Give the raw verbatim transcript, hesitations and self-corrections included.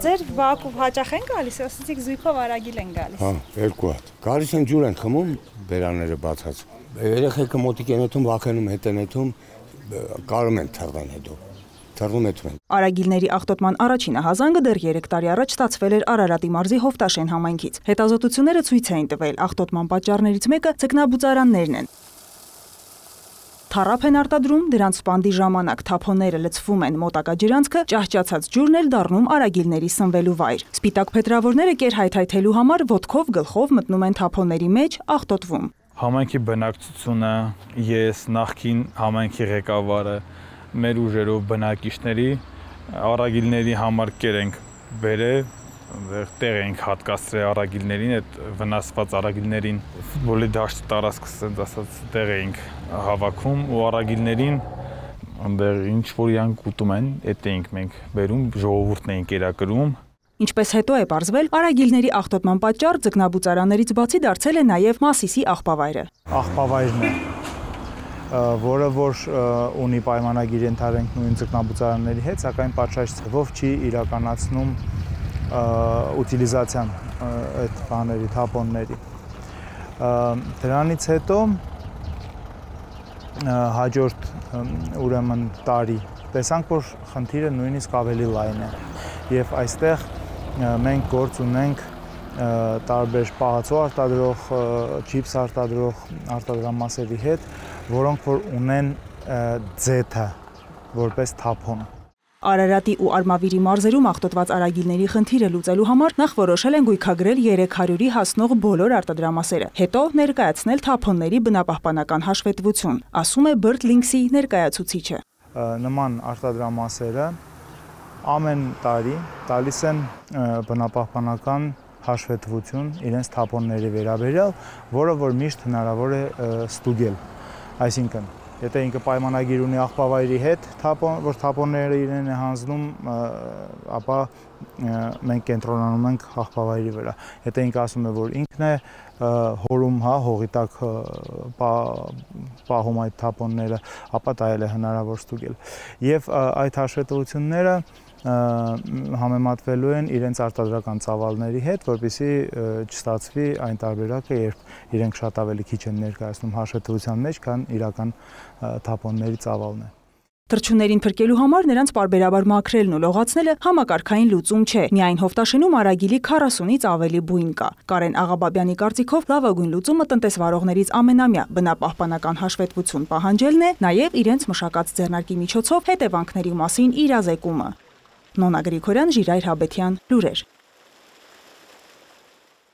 Ձեր Բաքու հաճախ են գալիս, ասեցիք զույգով Արագիլ են գալիս։ Հա, երկու հատ։ Գալիս են ջուր են խմում, բերանները բացած։ Երեխեքը մոտիկ են եթում, վախենում հետ են եթում, կարում են թաղան հետո։ Արագիլների աղտոտման առաջին ահազանգը դեռ երեք տարի առաջ ստացվել էր Արարատի մարզի Հովտաշեն համայնքից։ Հետազոտությունները ցույց էին տվել, աղտոտման պատճառներից մեկը ձկնաբուծարաններն են։ Թառափ են արտադրում, դրանց սպանդի ժամանակ թափոնները լցվում են մոտակա ջրանցքը, ճահճացած ջուրն էլ դառնում արագիլների սնվելու վայր։ Սպիտակ փետրավորները կերհայթայթելու համար ոտքով գլխով մտնում են թափոնների մեջ, աղտոտվում։ Համայնքի բնակչությունը, ես, նախկին համայնքի ղեկավարը, մեր ուժերով բնակիչների արագիլների համար կեր ենք բերել, տեղ ենք հատկացրել արագիլներին, այդ վնասված արագիլներին ֆուտբոլի դաշտի տարածքը ասած տեղ ենք հավաքում ու արագիլներին այնտեղ ինչ որ իրանք ուտում են, այդ էինք մենք բերում, ժողովուրդն էին կերակրում։ Ինչպես հետո է պարզվել, արագիլների աղտոտման պատճառ ձկնաբուծարաններից բացի դարձել է նաև Մասիսի աղբավայրը։ Աղբավայրն է, որը որ ունի պայմանագիր ենթարենք նույն ձկնաբուծարանների հետ, սակայն պատշաճ ձևով չի իրականացնում ուտիլիզացիան այդ բաների, թափոնների։ Դրանից հետո հաջորդ ուրեմն տարի տեսանք, որ խնդիրը նույնիսկ ավելի լայն է եւ այստեղ մենք գործ ունենք տարբեր պահածո արտադրող, չիպս արտադրող արտադրամասերի հետ, որոնք որ ունեն ձեթը որպես թափոն։ Արարատի ու Արմավիրի մարզերում աղտոտված արագիլների խնդիրը լուծելու համար նախ որոշել են գույքագրել երեք հարյուրի հասնող բոլոր արտադրամասերը, հետո ներկայացնել թափոնների բնապահպանական հաշվետվություն, ասում է Bird Links-ի ներկայացուցիչը։ Նման արտադրամասերը ամեն տարի տալիս են բնապահպանական հաշվետվություն իրենց թափոնների վերաբերյալ, որը որ միշտ հնարավոր է ստուգել։ Այսինքն, եթե ինքը պայմանագիր ունի աղբավայրի հետ, որ թափոնները իրեն է հանձնում, ապա մենք կենտրոնանում ենք աղբավայրի վրա։ Եթե ինքը ասում է, որ ինքն է հորում, հա, հողի տակ պահում այդ թափոնները, ապա դա էլ է հնարավոր ստուգել։ Եվ այդ հաշվետվությունները համեմատվելու են իրենց արտադրական ծավալների հետ, որպեսզի չստացվի այն տարբերակը, երբ իրենք շատ ավելի քիչ են ներկայացնում հաշվետվության մեջ, քան իրական թափոնների ծավալն է։ Թռչուններին փրկելու համար նրանց պարբերաբար մաքրելն ու լողացնելը համակարգային լուծում չէ։ Միայն Հովտաշենում արագիլի քառասունից ավելի բույն կա։ Կարեն Աղաբաբյանի կարծիքով լավագույն լուծումը տնտեսվարողներից ամենամյա բնապահպանական հաշվետվություն պահանջելն է, նաև իրենց մշակած ձեռնարկի միջոցով հետևանքների մասին իրազեկումը։ Նոնա Գրիգորյան, Ժիրայր Հաբետյան, լուրեր։